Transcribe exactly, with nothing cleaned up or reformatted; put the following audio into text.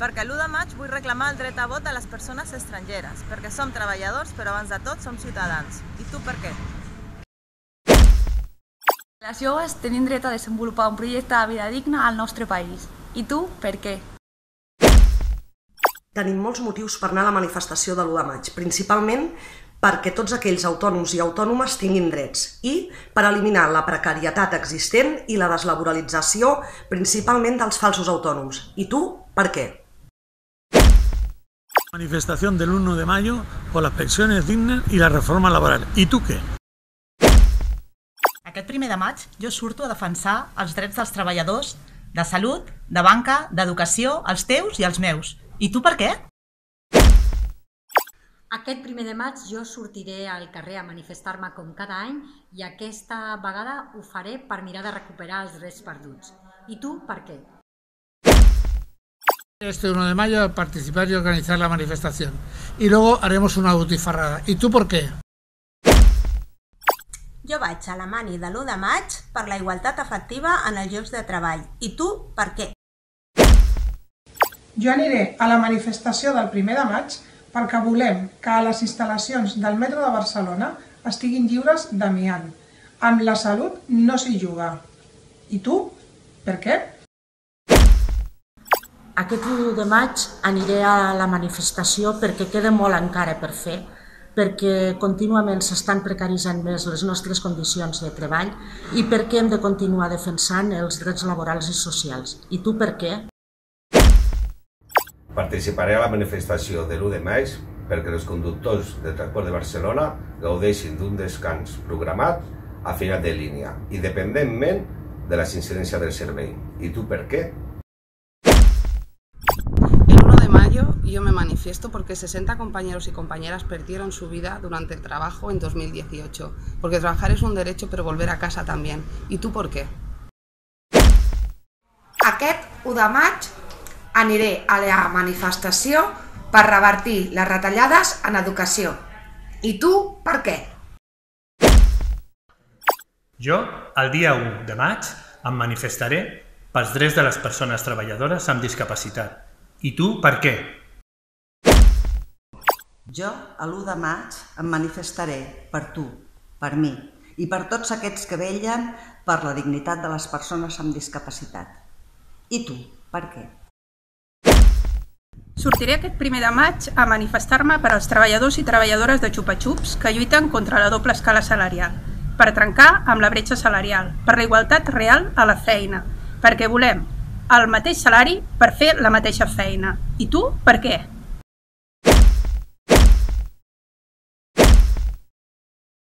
Perquè l'u de maig vull reclamar el dret a vot de les persones estrangeres, perquè som treballadors, però abans de tot som ciutadans. I tu per què? Les joves tenim dret a desenvolupar un projecte de vida digna al nostre país. I tu per què? Tenim molts motius per anar a la manifestació de l'u de maig, principalment perquè tots aquells autònoms i autònomes tinguin drets i per eliminar la precarietat existent i la deslaboralització principalment dels falsos autònoms. I tu per què? Manifestación del uno de mayo por las pensiones dignas y la reforma laboral. ¿Y tú qué? Aquest primer de maig jo surto a defensar els drets dels treballadors de salut, de banca, d'educació, els teus i els meus. I tu per què? Aquest primer de maig jo sortiré al carrer a manifestar-me com cada any i aquesta vegada ho faré per mirar de recuperar els drets perduts. I tu per què? Este uno de mayo a participar y organizar la manifestación. Y luego haremos una butifarrada. ¿Y tú por qué? Jo vaig a la mani de l'u de maig per la igualtat efectiva en els llocs de treball. I tu per què? Jo aniré a la manifestació del primer de maig perquè volem que a les instal·lacions del metro de Barcelona estiguin lliures d'amiant. Amb la salut no s'hi juga. I tu per què? Aquest u de maig aniré a la manifestació perquè queda molt encara per fer, perquè contínuament s'estan precaritzant més les nostres condicions de treball i perquè hem de continuar defensant els drets laborals i socials. I tu per què? Participaré a la manifestació de l'u de maig perquè els conductors del transport de Barcelona gaudeixin d'un descans programat a final de línia, independentment de la incidència del servei. I tu per qué? Yo me manifiesto porque sesenta compañeros y compañeras perdieron su vida durante el trabajo en dos mil dieciocho, porque trabajar es un derecho pero volver a casa también. ¿Y tú por qué? Aquest u de maig aniré a la manifestació per revertir les retallades en educació. I tu per què? Jo, el dia u de maig, em manifestaré pels drets de les persones treballadores amb discapacitat. I tu per què? Jo, a l'u de maig, em manifestaré per tu, per mi i per tots aquests que vetllen per la dignitat de les persones amb discapacitat. I tu, per què? Sortiré aquest primer de maig a manifestar-me per als treballadors i treballadores de xupa-xups que lluiten contra la doble escala salarial, per trencar amb la bretxa salarial, per la igualtat real a la feina, perquè volem el mateix salari per fer la mateixa feina. I tu, per què?